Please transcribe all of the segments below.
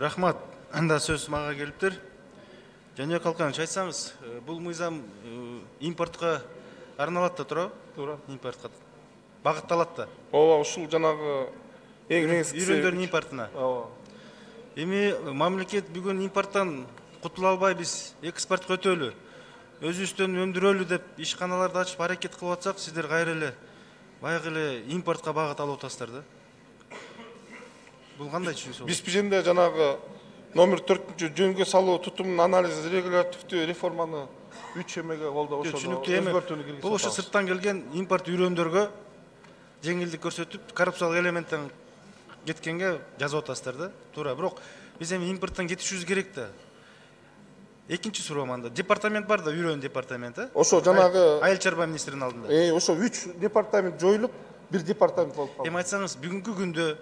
Рахмат. Анда сөз мага келиптир. Жаныбек Калканович, айтсаңыз, бул мыйзам импортко арналат да туурабы? Туура. Импортко багытталат да. Ооба, ушул жанагы эң негизгиси үйрөндөрдүн импортуна. Ооба. Эми мамлекет бүгүн импорттон кутула албай биз экспортко өтөлү, өзүбүздөн өндүрөлү деп ишканаларды ачып аракет кылып атсак, сиздер кайра эле баягы эле импортко багыт алып атасыздар да. Бул кандай түшүнүк? Биз бизенде жанагы номер 4 жөнгө салуу тутумун анализ регулятивдүү реформаны 3 эмеге колдоп ошону өзгөртүүнү киргизип. Бул ошо сырттан келген импорт үйрөндөргө жеңилдик көрсөтүп, коррупциялык элементтен кеткенге жазып атасыздар да. Туура, бирок биз эми импорттон кетишибиз керек да. Экинчи суроом анда. Департамент бар да, үйрөн департаменти. Ошо жанагы Айыл чарба министринин алдында. ошо 3 департамент жоюлуп, бир департамент болуп калды. Эми айтсаңыз, бүгүнкү күндө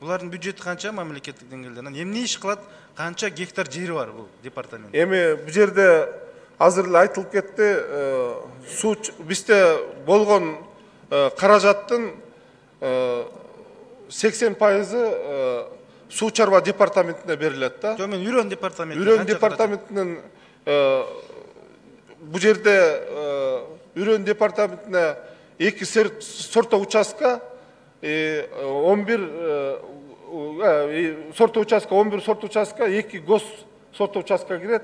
булардын бюджети канча мамлекеттик деңгээлде? Анан эмне иш кылат? Канча гектар жери бар бул департамент? Эми бул жерде азыр эле айтылып кетти, суу бизде болгон каражаттын 80% суу чарба департаментине берилет да. Жок, мен үйрөн департаменти. Үйрөн департаментинин бул жерде үйрөн департаментине 2 сорто участка 11 сорто участка 11 сорто участка 2 гос сорто участка кирет.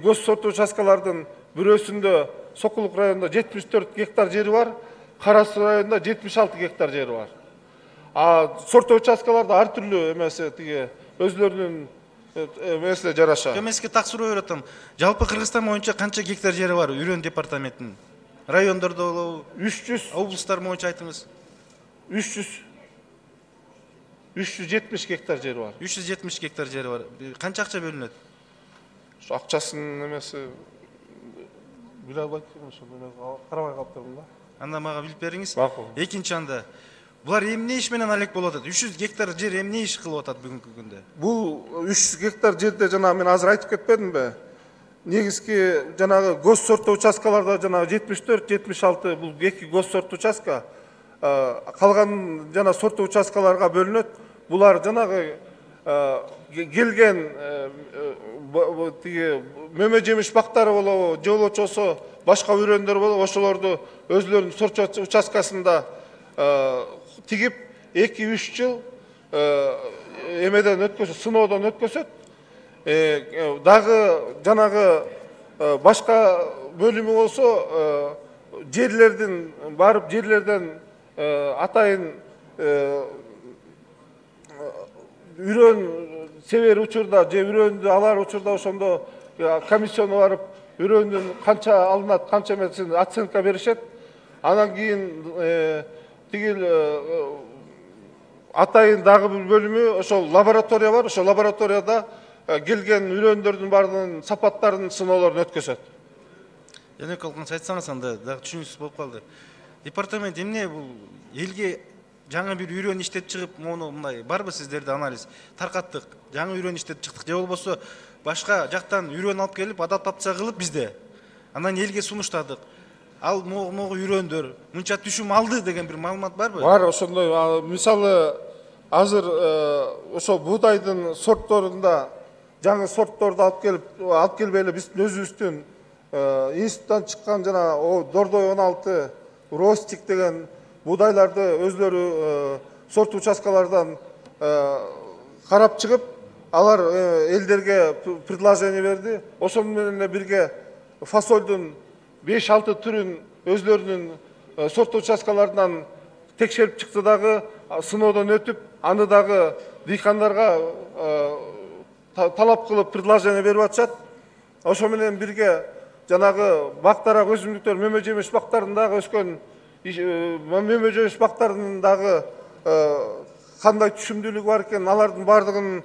Гос сорто участкалардын бирөөсүндө Сокулук районунда 74 гектар жери бар, Кара Суу районунда 76 гектар жери бар. А сорто участкаларда ар түрлүү эмеси тиги өзлөрүнүн эмесине жараша. Мен сизге так суроо берип атам. Жалпы Кыргызстан боюнча канча гектар жери бар үйрөн департаментинин? Райондордо болобу? 300. Облустар боюнча айтыңыз. 370 гектар жери бар. 370 гектар жери бар. Канча акча бөлүнөт? Ошо акчасынын эмеси биле албайт элем, ошо мен карабай калыптырмын да. Анда мага билип бериңиз. Макул. Экинчи анда булар эмне иш менен алек болуп атат? 300 гектар жер эмне иш кылып атат бүгүнкү күндө? Бул 300 гектар жерде жана мен азыр айтып кетпедимби? Негизги жанагы гос сорто участкаларда жанагы 74-76 бул 2 гос сорто участка, калган жана сорто участкаларга бөлүнөт. Булар жанагы келген тиги мөмө жемиш бактары болобу, же болбосо башка үйрөндөр болобу, ошолорду өзлөрүнүн сорто участкасында тигип 2-3 жыл эмеден өткөзөт, сыноодон өткөзөт. Дагы жанагы башка бөлүмү болсо жерлердин барып жерлерден атайын үйрөн себер учурда же үйрөндү алар учурда ошондо комиссияны барып үйрөндүн канча алынат, канча эмесин оценка беришет. Анан кийин тигил атайын дагы бир бөлүмү ошол лаборатория бар. Ошол лабораторияда келген үйрөндөрдүн баарынын сапаттарын сыноолорун өткөзөт. Жаныбек Калканович, айтсаңыз анда дагы түшүнүксүз болуп калды. Департамент эмне бул элге жаңы бир үйрөн иштеп чыгып, мону мындай барбы сиздерде анализ? Таркаттык, жаңы үйрөн иштеп чыктык же болбосо башка жактан үйрөн алып келип, адаптация кылып бизде. Анан элге сунуштадык. Ал могу үйрөндөр мынча түшүм алды деген бир маалымат барбы? Бар, ошондой. Мисалы азыр ошо буудайдын сортторунда жаңы сортторду алып келбей эле биздин өзүбүздүн институттан чыккан жана Дордой 16 Ростик деген буудайларды өзлөрү сорт участкалардан карап чыгып, алар элдерге предложение берди. Ошол менен бирге фасолдун 5-6 түрүн өзлөрүнүн сорт участкаларынан текшерип чыкты дагы, сыноодон өтүп, аны дагы дыйкандарга талап кылып предложение берип атышат. Ошо менен бирге жанагы бактарак өсүмдүктөр, мөмө жемиш бактарындагы өскөн мөмө жемиш бактарынын дагы кандай түшүмдүүлүгү бар экен, алардын баардыгын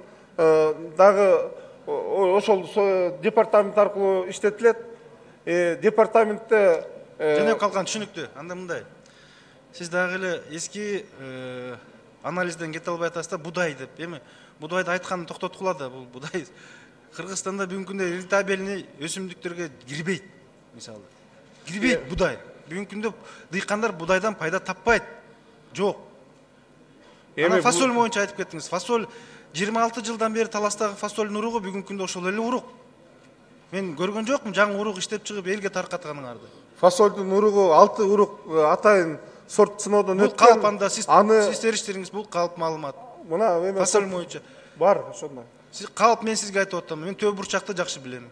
дагы ошол департамент аркылуу иштетилет. Департаментте Жаныбек Калканович, түшүнүктүү. Анда мындай. Сиз дагы эле эски анализден кете албай атасыз да, будай деп. Эми будайды айтканын токтоткула да, бул будай Кыргызстанда бүгүнкү күндө рентабельный өсүмдүктөргө кирбейт. Мисалы, кирбейт будай. Бүгүнкү күндө дыйкандар будайдан пайда таппайт. Жок. Эми фасоль боюнча айтып кеттиңиз. Фасоль 26 жылдан бери таластагы фасолдун уругу бүгүнкү күндө ошол эле урук. Мен көргөн жокмун жаңы урук иштеп чыгып элге таркатканыңарды. Фасолдун уругу 6 урук атайын сорт сыноодон Бул өткөн. калп анда сиз бериштериңиз бул калп маалымат. Мына эме Фасол боюнча бар ошондой. Сиз калп мен сизге айтып атам. Мен төбө бурчакты жакшы билем.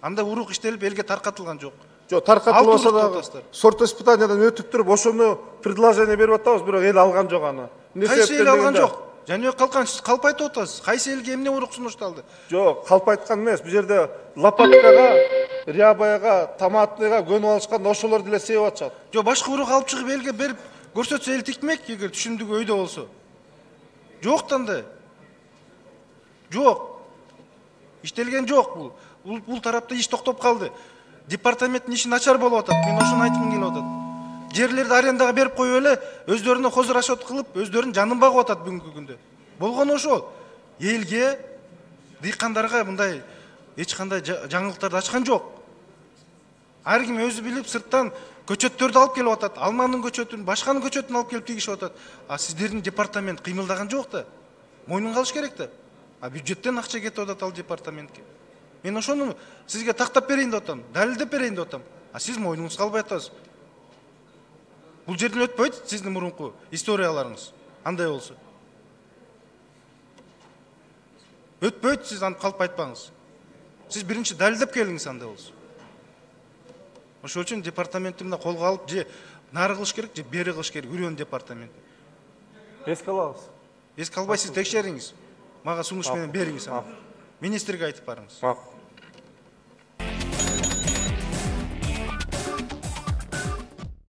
Анда урук иштелип элге таркатылган жок. Жок, таркатылбаса да атасыздар. сорт испытаниядан өтүп туруп ошону предложение берип атабыз, бирок эл алган жок аны. Кайсы эл алган жок? Жаныбек Калкан, сиз калп айтып атасыз. Кайсы элге эмне урук сунушталды? Жок, калп айткан эмес. Бул жерде лопаткага, рябаяга, томатныйга көнүп алышкан ошолор деле себеп атышат. Жок, башка урук алып чыгып элге берип көрсөтсө эл тикмек, эгер түшүмдүгү өйдө болсо. Жок да андай. Жок. Иштелген жок бул. Бул тарапта иш токтоп калды. Департаменттин иши начар болуп атат. Мен ошону айткым келип атат. Жерлерди арендага берип коюп эле өздөрүнө хозур расчет кылып, өздөрүнүн жанын багып атат бүгүнкү күндө. Болгону ошол. Элге, дыйкандарга мындай эч кандай жаңылыктарды ачкан жок. Ар ким өзү билип сырттан көчөттөрдү алып келип атат. Алманын көчөтүн, башканын көчөтүн алып келип тигишип атат. А сиздердин департамент кыймылдаган жок да. Мойнун калыш керек да. А бюджеттен акча кетип атат ал департаментке. Мен ошону сизге тактап берейин деп атам, далилдеп берейин деп атам. А сиз мойнуңузга албай атасыз. Бул жерден өтпөйт сиздин мурунку историяларыңыз. Андай болсо. Өтпөйт, сиз аны калп айтпаңыз. Сиз биринчи далилдеп келиңиз андай болсо. Ошол үчүн департаментти мына колго алып же нары кылыш керек, же бери кылыш керек үрөн департамент. Эске алабыз. Эске албай сиз текшериңиз. Мага сунуш менен бериңиз аны. Министрге айтып барыңыз.